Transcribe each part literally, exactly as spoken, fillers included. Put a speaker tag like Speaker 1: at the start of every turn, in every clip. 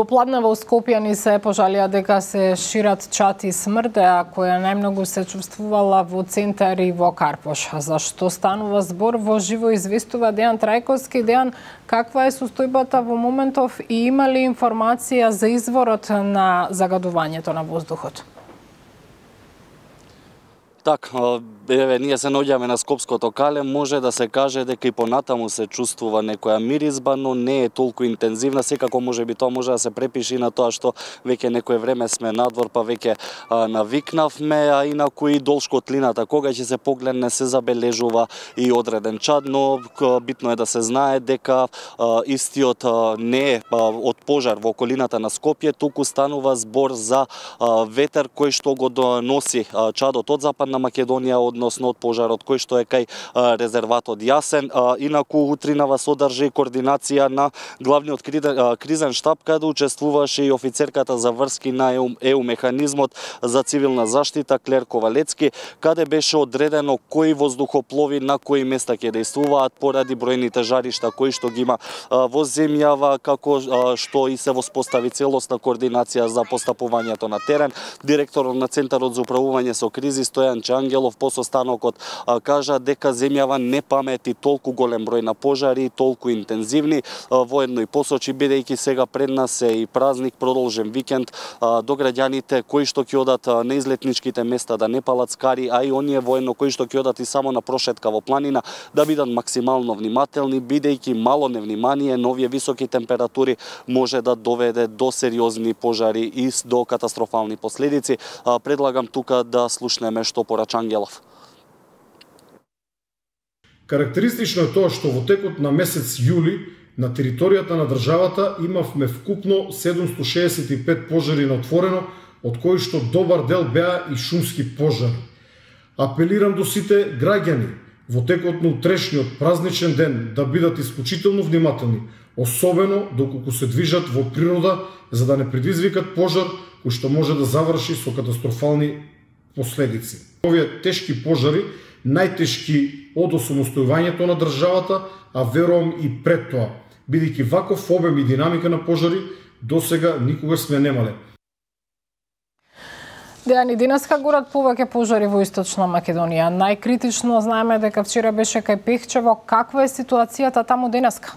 Speaker 1: Попладне во Скопје ни се пожалија дека се шират чати смрдеа, која најмногу се чувствувала во центар и во Карпош. Зашто станува збор во живо известува Дејан Трајковски. Дејан, каква е состојбата во моментов и има ли информација за изворот на загадувањето на воздухот?
Speaker 2: Так, еве, ние се наоѓаме на Скопското кале, може да се каже дека и понатаму се чувствува некоја миризба, но не е толку интензивна. Секако може би тоа може да се препиши на тоа што веќе некое време сме надвор, па веќе а, навикнавме, а инаку и долж котлината, кога ќе се погледне, се забележува и одреден чад, но битно е да се знае дека а, истиот а, не е а, од пожар во околината на Скопје, туку станува збор за а, ветер кој што го доноси а, чадот од Западна Македонија, односно од пожарот кој што е кај а, резерватот Јасен. А, инаку утринава содржи координација на главниот кризен штаб, каде учествуваше и офицерката за врски на ЕУ механизмот за цивилна заштита Клер Ковалецки, каде беше одредено кои воздухоплови на кои места ќе дејствуваат поради бројните жаришта кои што ги има а, во земјава, како а, што и се воспостави целосна координација за постапувањето на терен. Директорот на Центарот за управување со кризи Стојан Ангелов по состанокот а, кажа дека земјава не памети толку голем број на пожари и толку интензивни. А, воедно и посочи, бидејќи сега пред нас е и празник, продолжен викенд, а, до граѓаните кои што ќе одат а, на излетничките места да не палат скари, а и оние воедно кои што ќе одат и само на прошетка во планина, да бидат максимално внимателни, бидејќи мало невнимание на овие високи температури може да доведе до сериозни пожари и до катастрофални последици. А, предлагам тука да слушнеме што порача Ангелов.
Speaker 3: Карактеристично е тоа што во текот на месец јули на територијата на државата имавме вкупно седумстотини шеесет и пет пожари на отворено, од кои што добар дел беа и шумски пожари. Апелирам до сите граѓани во текот на утрешниот празничен ден да бидат исклучително внимателни, особено доколку се движат во природа, за да не предизвикат пожар кој што може да заврши со катастрофални последици. Овие тешки пожари, најтешки од осамостојувањето на државата, а верувам и пред тоа, бидејќи ваков обем и динамика на пожари досега никогаш сме немале.
Speaker 1: Дејан, и денеска горат повеќе пожари во Источна Македонија. Најкритично знаеме дека вчера беше кај Пехчево. Каква е ситуацијата таму денеска?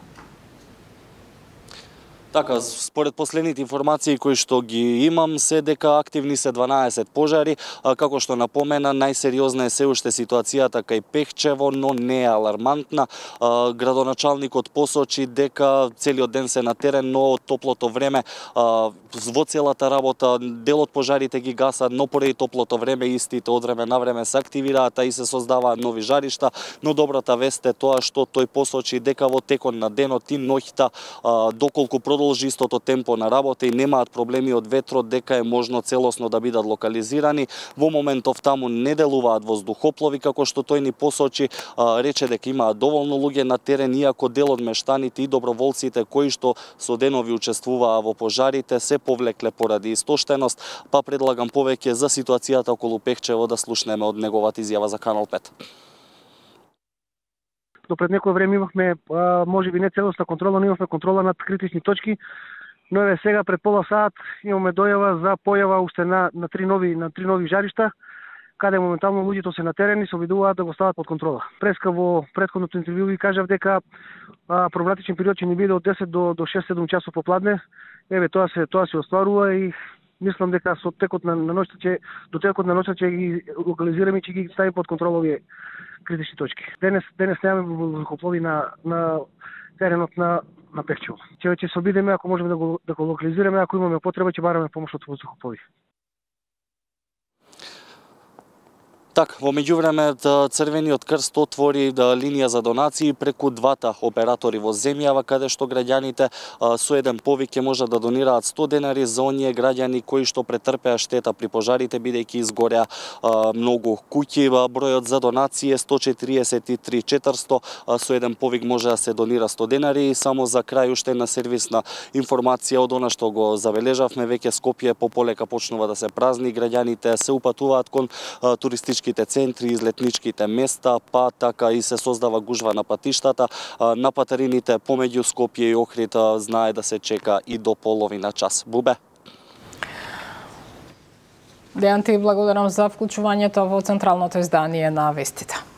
Speaker 2: Така, според последните информации кои што ги имам, се дека активни се дванаесет пожари, а, како што напомена, најсериозна е се уште ситуацијата кај Пехчево, но не е алармантна. А, градоначалникот посочи дека целиот ден се на терен, но од топлото време а, во целата работа дел од пожарите ги гасат, но поради топлото време истите од време на време се активираат, а и се создаваат нови жаришта, но добрата вест е тоа што тој посочи дека во текот на денот и ноќта, а, доколку продолжи истото темпо на работа и немаат проблеми од ветрот, дека е можно целосно да бидат локализирани. Во моментов таму не делуваат воздухоплови, како што тој ни посочи, а, рече дека имаат доволно луѓе на терен, иако дел од мештаните и доброволците кои што со денови учествуваа во пожарите се повлекле поради истоштеност, па предлагам повеќе за ситуацијата околу Пехчево да слушнеме од неговата изјава за Канал пет.
Speaker 4: До пред некој време имавме, може би не целосна контрола, но имавме контрола над критични точки, но еве сега пред пола сат имаме дојава за појава уште на, на три нови на три нови жаришта, каде моментално луѓето се на терен и се обидуваат да го стават под контрола. Преска во претходното интервју ви кажав дека а, проблематичен период ќе ни биде од десет до до шест-седум часов попладне. Еве тоа се тоа се остварува и мислам дека со текот на, на ноќта ќе до текот на ноќта ќе ги локализираме и ќе ги ставиме под контрола овие критични точки. Денес денес немаме воздухоплови на на теренот на на Пехчево. Ќе ќе се обидеме ако можеме да го да го локализираме, ако имаме потреба ќе бараме помош од воздухоплови.
Speaker 2: Так, во меѓувреме Црвениот крст отвори да, линија за донации преку двата оператори во земјава, каде што граѓаните а, со еден повик ќе можат да донираат сто денари за оние граѓани кои што претрпеа штета при пожарите, бидејќи изгореа а, многу куќи. Бројот за донации е сто четириесет и три четиристо, а, со еден повик може да се донира сто денари. И само за крај уште една сервисна информација од она што го забележавме, веќе Скопје пополека почнува да се празни, граѓаните се упатуваат кон а, туристички туристичките центри, излетничките места, па така и се создава гужва на патиштата. На патарините помеѓу Скопје и Охрид знае да се чека и до половина час. Бубе.
Speaker 1: Дејан, ти благодарам за вклучувањето во централното издание на вестите.